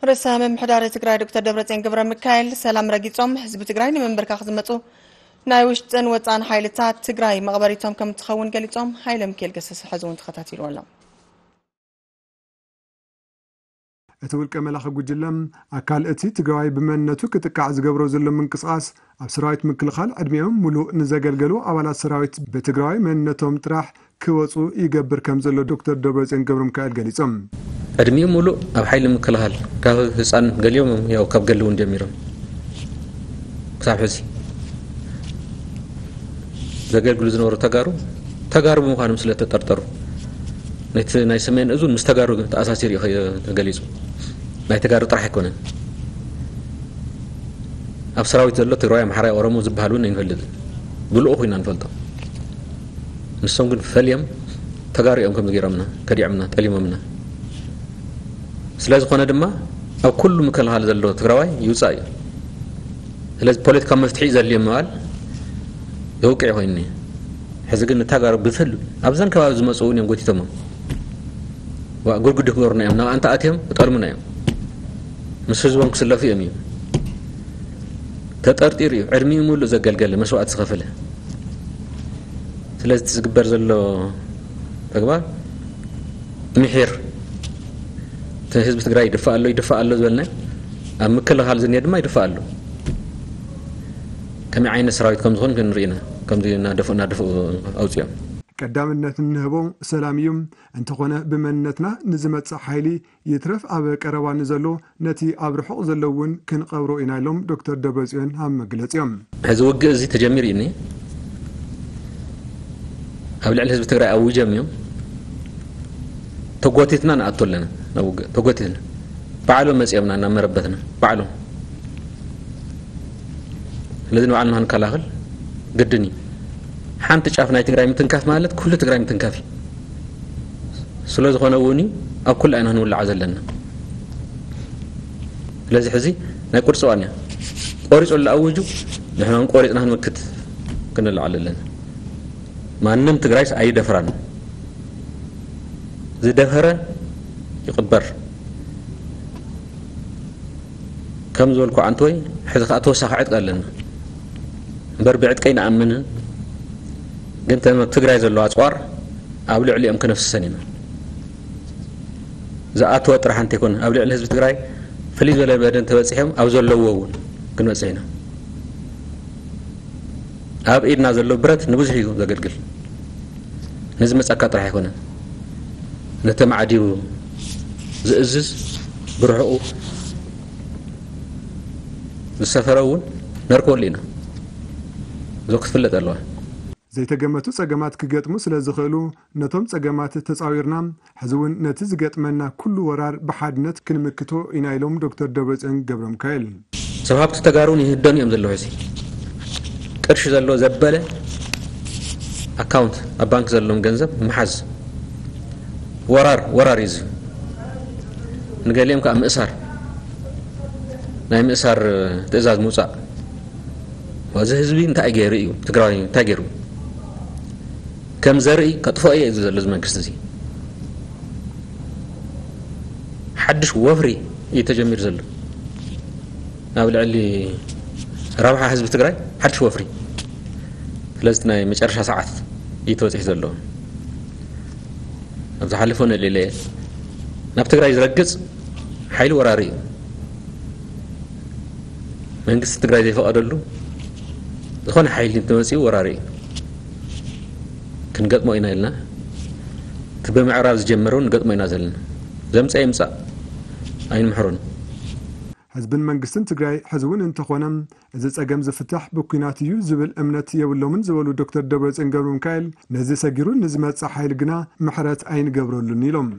ርእሰ ምምሕዳር ትግራይ ዶክተር ደብረጽዮን ገብረ ሚካኤል ሰላም ረጊጾም ህዝቢ ትግራይ ንምንብርካኽ ዝመጹ ናይ ውሽጥን ወጻእን ሓይልታት ትግራይ መቕበሪቶም ከም ትኸውን ገሊጾም። ሃይለ ሚካኤል ገሰሰ ሕዚ እውን ተኸታቲልዎ ኣሎ። እቲ ውልቀ መላኺ ጉጅለ ኣካል እቲ ትግራዋይ ብመንነቱ ክጥቃዕ ዝገብሮ ዘሎ ምንቅስቓስ ኣብ ሰራዊት ምክልኻል ዕድሜኦም ሙሉእ ንዘገልገሉ ኣባላት ሰራዊት ብትግራዋይ መንነቶም ጥራሕ ክወፁ ይገብር ከም ዘሎ ዶክተር ደብረፅዮን ገብረ ሚካኤል ገሊፆም። ዕድሚኡ ሙሉእ ኣብ ሓይሊ ምክልኻል ካብ ህፃን ገሊኦም ያው ካብ ገሊ እውን ጀሚሮም ክሳብ ሕዚ ዘገልግሉ ዝነበሩ ተጋሩ ተጋሩ ብምዃኖም ስለ ተጠርጠሩ ነቲ ናይ ሰሜን እዙን ምስ ተጋሩ ተኣሳሲሩ እዩ ተገሊፁ። ናይ ተጋሩ ጥራሕ ኣይኮነን። ኣብ ሰራዊት ዘሎ ትግራይ፣ ኣምሓራይ፣ ኦሮሞ ዝበሃል እውን ኣይንፈልጥን። ብልኡ ኮይና ንፈልጦ። ንሶም ግን ፈልዮም ተጋሩ እዮም ከምዚ ገይሮምና፣ ከዲዖምና፣ ጠሊሞምና። ስለ ዝኾነ ድማ ኣብ ኩሉ ምክልኻል ዘሎ ትግራዋይ ይውፃእ እዩ። ስለዚ ፖለቲካዊ መፍትሒ እዩ ዘድልዮ ምባል የውቅዕ ኮይኑ እዩ። ሕዚ ግን ንተጋሩ ብፍል ኣብዘን ከባቢ ዝመፁ እውን እዮም ጎቲቶሞም። ዋ፣ ጉድጉድ ክገብሩና እዮም። ናብ ኣንታ ኣትዮም ክጠልሙና እዮም። ምስ ህዝቦም ክስለፉ እዮም እዩ። ተጠርጢሩ እዩ። ዕድሚኡ ሙሉእ ዘገልገለ፣ መስዋእቲ ዝኸፈለ። ስለዚ እቲ ዝግበር ዘሎ ተግባር ምሒር፣ እቲ ህዝቢ ትግራይ ይድፋእ ኣሎ፣ ይድፋእ ኣሎ ዝበልና፣ ኣብ ምክልኻል ዝኒሀ ድማ ይድፋእ ኣሎ። ከመይ ዓይነት ሰራዊት ከም ዝኾን ክንርኢ ኢና። ከምዚ እናደፍኡ፣ እናደፍኡ ኣውፅኦም። ቀዳምነት እንህቦ ሰላም እዩ። እንተኾነ ብመንነትና ንዝመጽእ ሓይሊ ይትረፍ ኣብ ቀረባ ንዘሎ፣ ነቲ ኣብ ርሑቕ ዘሎ እውን ክንቐብሮ ኢና ኢሎም ዶክተር ደብረጽዮን ኣብ መግለጺኦም። ሕዚ ውግእ እዚ ተጀሚሩ እዩ እኒአ። ኣብ ልዕሊ ህዝቢ ትግራይ ኣዊጀም እዮም። ተጎቲትና ንኣቱ ኣለና ናብ ውግእ። ተጎቲትና። ባዕሎም መጺኦምና ናብ መረበትና። ባዕሎም። ስለዚ ንባዕልና ክንከላኸል ግድን እዩ። ሓንቲ ጫፍ ናይ ትግራይ ምትንካፍ ማለት ኩሉ ትግራይ ምትንካፍ እዩ። ስለ ዝኾነ እውን እዩ ኣብ ኩሉ ኣይና ክንውልዓ ዘለና። ስለዚ ሕዚ ናይ ቁርፂ እዋን እያ። ቆሪፁ ኣሎ ኣውጁ፣ ንሕና እውን ቆሪፅና ክንምክት ክንልዓል ኣለና። ማንም ትግራይስ ኣይደፍራን። ዝደፈረ ይቕበር። ከም ዝበልኩ ዓንተወይ፣ ሕዚ ከዓ ተወሳኺ ዕጥቂ ኣለና። እምበር ብዕጥቂ ኣይንኣምንን። ግን ተም ኣብ ትግራይ ዘለዋ ኣፅዋር ኣብ ልዕሊኦም ክነፍስሰን ኢና። ዝኣተወ ጥራሕ እንተይኮነ፣ ኣብ ልዕሊ ህዝቢ ትግራይ ፍልይ ዝበለ በደል ተበፂሖም ኣብ ዘለዎ እውን ክንበፅሕ ኢና። ኣብ ኢድና ዘሎ ብረት ንብዙሕ እዩ ዘገልግል። ነዚ መጻካ ጥራሕ ኣይኮነን። ነቲ ማዕዲሩ ዝእዝዝ ብርሑቑ ዝሰፈረ እውን ነርከበሉ ኢና። እዞ ክትፍለጥ ኣለዋ። ዘይተገመቱ ጸገማት ክገጥሙ ስለ ዝኽእሉ፣ ነቶም ጸገማት ተጻዊርና፣ ሕዚ እውን ነቲ ዝገጥመና ኩሉ ወራር ብሓድነት ክንምክቶ ኢና ኢሎም ዶክተር ደብረጽዮን ገብረሚካኤል። ሰብ ሃብቲ ተጋሩ እውን ይህደኑ እዮም ዘለዉ። ሕዚ ቅርሺ ዘለዎ ዘበለ ኣካውንት ኣብ ባንክ ዘለዎም ገንዘብ ምሓዝ ወራር፣ ወራር እዩ እዚ። ንገሊኦም ከዓ ምእሳር፣ ናይ ምእሳር ትእዛዝ ምውፃእ። እዚ ህዝቢ እንታይ ገይሩ እዩ? ትግራዋይ እንታይ ገይሩ? ከም ዘርኢ ከጥፍኦ እየ እዚ ዘሎ እዚ መንግስቲ እዚ። ሓድሽ ወፍሪ እዩ ተጀሚሩ ዘሎ። ናብ ልዕሊ ረብሓ ህዝቢ ትግራይ ሓድሽ ወፍሪ። ስለዚ ናይ መጨረሻ ሰዓት እዩ ተበፂሑ ዘሎ። ኣብ ዝሓለፈ ነልዕለ እየ። ናብ ትግራይ ዝረግፅ ሓይሊ ወራሪ እዩ። መንግስቲ ትግራይ ዘይፈቐደሉ ዝኾነ ሓይሊ እንተመፂኡ ወራሪ እዩ። ክንገጥሞ ኢና ኢልና፣ እቲ ብምዕራብ ዝጀመረ እውን ንገጥሞ ኢና ዘለና። ዘምፀ ይምፃእ፣ ኣይንምሕሮን። ህዝብን መንግስትን ትግራይ ሕዚ እውን እንተኾነ፣ እዚ ጸገም ዝፍታሕ ብኲናት እዩ ዝብል እምነት የብሎምን ዝበሉ ዶክተር ደብረጽዮን ገብረ ሚካኤል፣ ነዚ ሰጊሩ ንዝመጽእ ሓይሊ ግና ምሕረት ኣይንገብረሉን ኢሎም።